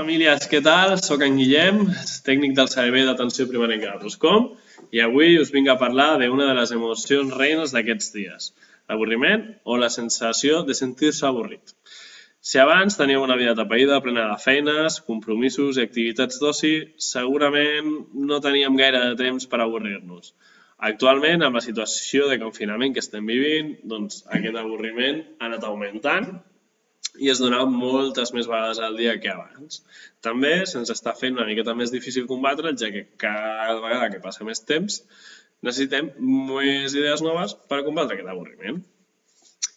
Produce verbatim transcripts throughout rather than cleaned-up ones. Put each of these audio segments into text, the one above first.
famílies, què tal? Soc en Guillem, tècnic del servei d'atenció primerenca de Ruscom, i avui us vinc a parlar d'una de les emocions reines d'aquests dies, l'avorriment o la sensació de sentir-se avorrit. Si abans teníem una vida atapeïda, plena de feines, compromisos i activitats d'oci, segurament no teníem gaire de temps per avorrir-nos. Actualment, amb la situació de confinament que estem vivint, doncs aquest avorriment ha anat augmentant i es dona moltes més vegades al dia que abans. També se'ns està fent una miqueta més difícil combatre'l, ja que cada vegada que passa més temps necessitem més idees noves per combatre aquest avorriment.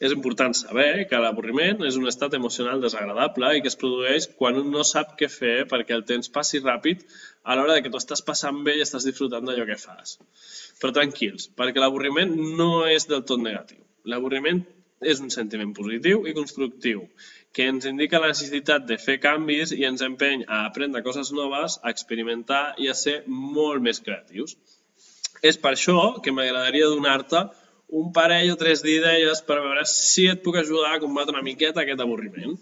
És important saber que l'avorriment és un estat emocional desagradable i que es produeix quan un no sap què fer perquè el temps passi ràpid a l'hora que tu estàs passant bé i estàs disfrutant d'allò que fas. Però tranquils, perquè l'avorriment no és del tot negatiu. L'avorriment és un sentiment positiu i constructiu, que ens indica la necessitat de fer canvis i ens empeny a aprendre coses noves, a experimentar i a ser molt més creatius. És per això que m'agradaria donar-te un parell o tres d'idees per veure si et puc ajudar a combatre una miqueta aquest avorriment.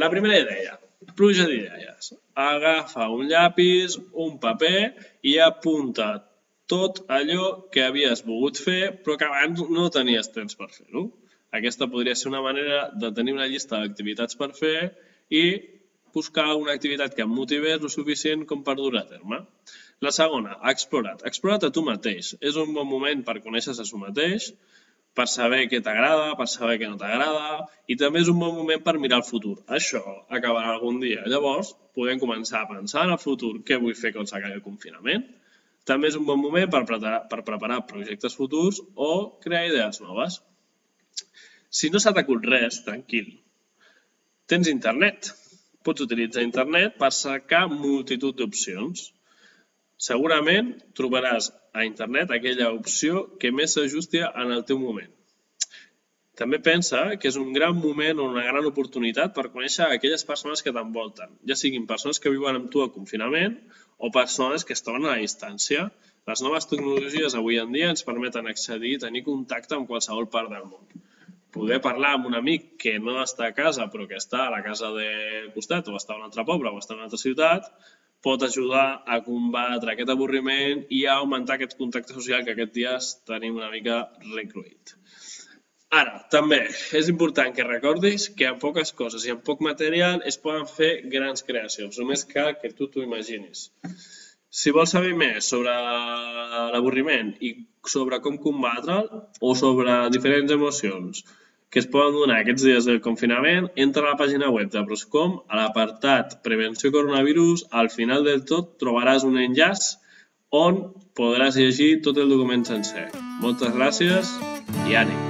La primera idea, pluja d'idees. Agafa un llapis, un paper i apunta tot allò que havies volgut fer però que abans no tenies temps per fer-ho. Aquesta podria ser una manera de tenir una llista d'activitats per fer i buscar una activitat que em motivés el suficient com per dur a terme. La segona, explora't. Explora't a tu mateix. És un bon moment per conèixer-se a tu mateix, per saber què t'agrada, per saber què no t'agrada, i també és un bon moment per mirar el futur. Això acabarà algun dia. Llavors, podem començar a pensar en el futur, què vull fer quan s'acabi el confinament. També és un bon moment per preparar, per preparar projectes futurs o crear idees noves. Si no s'ha t'acut res, tranquil. Tens internet. Pots utilitzar internet per cercar multitud d'opcions. Segurament trobaràs a internet aquella opció que més s'ajusti en el teu moment. També pensa que és un gran moment o una gran oportunitat per conèixer aquelles persones que t'envolten, ja siguin persones que viuen amb tu a confinament o persones que es troben a la distància. Les noves tecnologies avui en dia ens permeten accedir i tenir contacte amb qualsevol part del món. Poder parlar amb un amic que no està a casa però que està a la casa del costat o està a un altre poble o està a una altra ciutat pot ajudar a combatre aquest avorriment i a augmentar aquest contacte social que aquests dies tenim una mica recruït. Ara, també és important que recordis que amb poques coses i amb poc material es poden fer grans creacions, només cal que tu t'ho imaginis. Si vols saber més sobre l'avorriment i sobre com combatre'l o sobre diferents emocions que es poden donar aquests dies del confinament, entra a la pàgina web de Ruscom, a l'apartat Prevenció Coronavirus, al final del tot trobaràs un enllaç on podràs llegir tot el document sencer. Moltes gràcies i ànim!